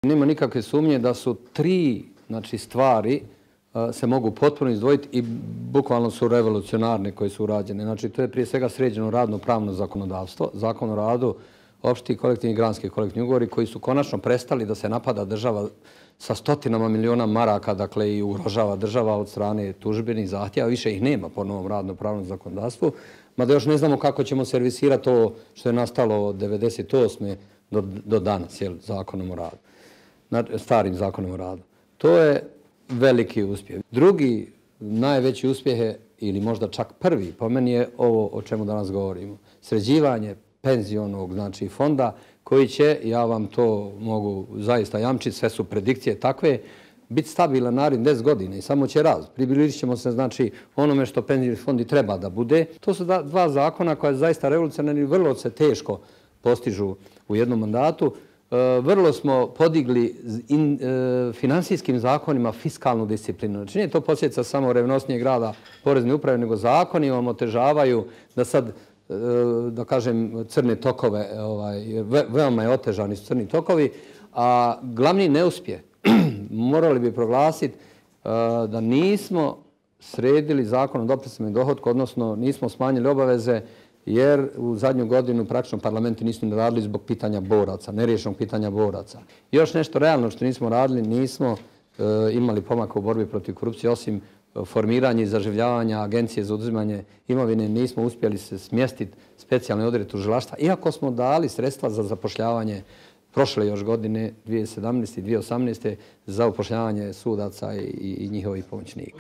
Nema nikakve sumnje da su tri stvari se mogu potpuno izdvojiti i bukvalno su revolucionarne koje su urađene. Znači, to je prije svega sređeno radno-pravno zakonodavstvo, zakon o radu, opšti kolektivni i granski kolektivni ugovori koji su konačno prestali da se napada država sa stotinama miliona maraka, dakle i ugrožava država od strane tužbenih zahtjeva. Više ih nema po novom radno-pravnom zakonodavstvu, mada još ne znamo kako ćemo servisirati to što je nastalo od 1998. do danas, zakonom o radu, starim zakonom o radu. To je veliki uspjeh. Drugi najveći uspjeh je, ili možda čak prvi, po meni je ovo o čemu danas govorimo. Sređivanje penzionog fonda koji će, ja vam to mogu zaista jamčiti, sve su predikcije takve, biti stabilan narednih 10 godina i samo će rast. Približit ćemo se onome što penzioni fond i treba da bude. To su dva zakona koja je zaista revolucionarni i vrlo se teško postižu u jednom mandatu. Vrlo smo podigli finansijskim zakonima fiskalnu disciplinu. Znači nije to posljedica samo revnosnijeg rada porezne uprave, nego zakoni vam otežavaju da sad, da kažem, crne tokove, veoma je otežani su crni tokovi, a glavni neuspjeh morali bi proglasiti da nismo sredili zakon o doprinosima i dohotku, odnosno nismo smanjili obaveze, jer u zadnju godinu praktično parlamenti nisu ni radili zbog pitanja boraca, neriješenog pitanja boraca. Još nešto realno što nismo radili, nismo imali pomaka u borbi protiv korupcije, osim formiranja i zaživljavanja agencije za oduzimanje imovine, nismo uspjeli se smjestiti specijalne odrede tužilaštva, iako smo dali sredstva za zapošljavanje prošle još godine, 2017. i 2018. za upošljavanje sudaca i njihovih pomoćnika.